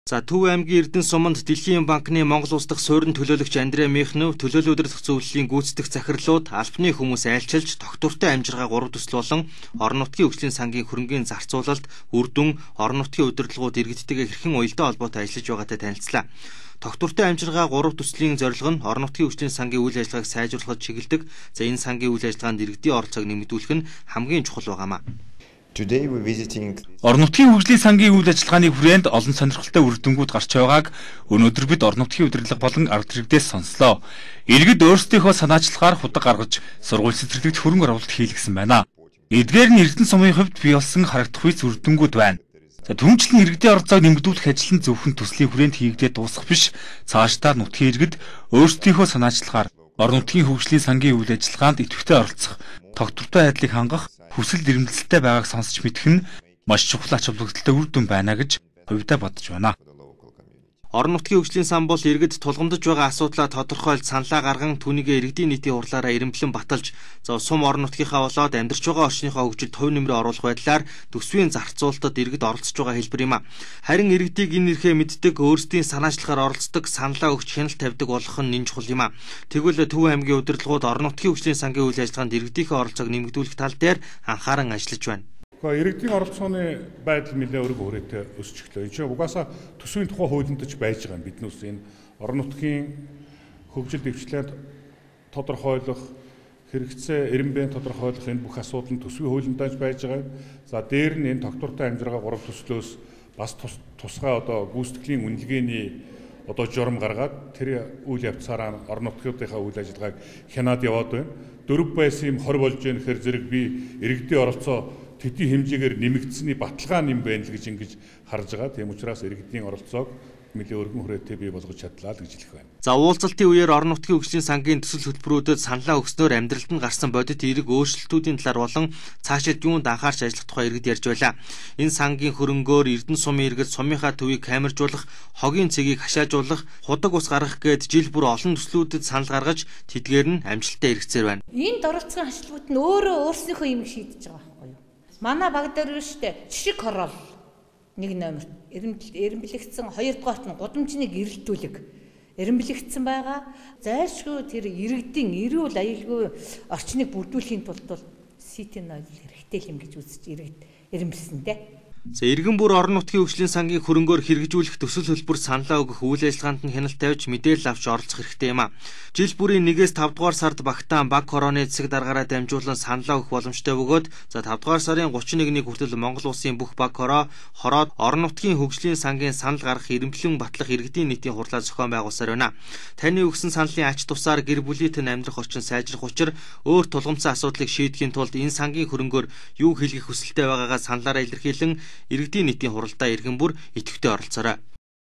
За Төв аймгийн Эрдэнэ суманд Дэлхийн банкны Монгол улс дахь суурин төлөөлөгч Андре Михнев төлөөлөл удирдах зөвлөлийн гүйцэтгэх захирлууд албаны хүмүүс айлчилж тогтвортой амжиргаа 3 төсөл болон орон нутгийн хөгжлийн сангийн хөрөнгийн зарцуулалт, үр дүн, орон нутгийн удирдлагууд иргэдтэйгээ хэрхэн уялдаа холбоотой ажиллаж байгаатай танилцлаа. Тогтвортой амжиргаа 3 төслийн зорилго нь орон нутгийн хөгжлийн сангийн үйл ажиллагааг сайжруулахад чиглэдэг. За энэ сангийн үйл ажиллагаанд иргэдийн оролцоог нэмэгдүүлэх нь хамгийн чухал байгаамаа. Орон нутгийн хөгжлийн сангийн үйл ажиллагааны хүрээнд олон сонирхолтой үр дүнгууд гарч байгааг өнөөдөр бид орон нутгийн удирдлага болон ард иргэдээс сонслоо. Иргэд өөрсдийнхөө санаачлагаар худаг гаргаж сургууль цэцэрлэгт хөрөнгө оруулалт хийлгэсэн байна. Эдгээр нь Эрдэнэ сумын хувьд бий болсон харагдах үе үр дүнгууд байна. Түүнчлэн иргэдийн оролцоог нэмэгдүүлэх ажил нь зөвхөн төслийн хүрээнд хийгдээд дуусах биш, цаашдаа нутгийн иргэд өөрсдийнхөө санаачлагаар орон нутгийн хөгжлийн сангийн үйл ажиллагаанд идэвхтэй оролцох, тогтвортой айдлыг хангах хүсэл эрмэлзэлтэй байгааг сонсч мэдэх нь маш чухал ач холбогдолтой үр дүн байна гэж хувьдаа бодож байна. Орон нутгийн хөгжлийн сан бол иргэд тулгамдж байгаа асуудлаа тодорхойлж саналаа гарган түүнийг иргэдийн нийтийн хурлаараа ирэмблэн баталж, сум орон нутгийнхаа болоод амьдарч байгаа орчныхоо хөгжилд хувь нэмрээ оруулах байдлаар төсвийн зарцуулалтад иргэд оролцож байгаа хэлбэр юм а. Харин иргэдийг энэ эрхээ мэддэг, өөрсдийн санаачлагаар оролцдог, саналаа өгч хяналт тавьдаг болох нь чухал юм а. Тэгвэл Төв аймгийн удирдлагууд орон нутгийн хөгжлийн сангийн үйл ажиллагаанд иргэдийнхээ оролцоог нэмэгдүүлэх тал дээр анхааран ажиллаж байна. Иргэдийн оролцооны байдал нэлээд өргө хүрээтэй өсч өглөө. Энэ чинь угаасаа төсвийн тухай хуулиндаж байж байгаа юм. Биднээс энэ орон нутгийн хөгжил дэвшлээд тодорхойлох, хэрэгцээ эренбэн тодорхойлох энэ бүх асуудал нь төсвийн хуулиндаж байж байгаа. За дээр нь энэ тогтвортой амжиргаа 3 төслөөс бас тусгай гүйцэтгэлийн үнэлгээний журам гаргаад тэр үйл явцаараа орон нутгийнхаа үйл ажиллагааг хянаад яваад байна. Дөрөв байсан юм 20 болж байна гэхээр зэрэг би иргэдийн оролцоо төдий хэмжээгээр нэмэгдсэний баталгаа нэм байна л гэж ингэж харж байгаа. Тийм учраас иргэдийн оролцоог нэлээд өргөн хүрээтэй бий болгож чадлаа л гэж хэлэх байна. За уулзалтын үеэр орон нутгийн хөгжлийн сангийн төсөл хөтөлбөрүүдэд саналаа өгснөөр амьдралд нь гарсан бодит эерэг өөрчлөлтүүдийн талаар болон цаашид юунд анхаарч ажиллах тухай иргэд ярьж байлаа. Энэ сангийн хөрөнгөөр Эрдэнэ сумын иргэд сумынхаа төвийг камержуулах, хогийн цэгийг хашаажуулах, худаг ус гаргах гээд жил бүр олон төслүүдэд санал гаргаж тэдгээр нь амжилттай эргэцээр байна. Энд оролцсон хашлууд нь өөрсдийнхөө юм шийдэж байгаа байхгүй юу? Манай баг дээр штэ жишг хорол 1 номер эренблэгдсэн 2 дугаарт нь гудамжныг эрэлтүүлэг эренблэгдсэн байгаа. Зайлшгүй тэр иргэдийн эрүүл аюулгүй орчныг бүрдүүлэхийн тулд ситийн ойл хэрэгтэй юм гэж үзэж иргэд эренблэсэндээ. Иргэн бүр орон нутгийн хөгжлийн сангийн хөрөнгөөр хэрэгжүүлэх төсөл хөтөлбөр саналаа өгөх үйл ажиллагаанд нь хяналт тавьж мэдээлэл авч оролцох хэрэгтэй юм а. Жил бүрийн 1-ээс 5 дугаар сард Багтаан баг хорооны цэцэг даргаараа дамжуулан саналаа өгөх боломжтой бөгөөд 5 дугаар сарын 31-ний хүртэл Монгол улсын бүх баг хороод орон нутгийн хөгжлийн сангийн санал гаргах эренблэн батлах иргэдийн нийтийн хурлаа зохион байгуулсаар байна. Таны өгсөн саналын ач тусаар гэр бүлийнхэн амьдрах орчин сайжрах учраа өөр тулгымцсан асуудлыг шийдэхийн тулд энэ сангийн хөрөнгөөр юу хийх хүсэлтэй байгаагаа саналаараа илэрхийлэн иргэдийн нийтийн хуралдаа иргэн бүр идэвхтэй оролцоорой.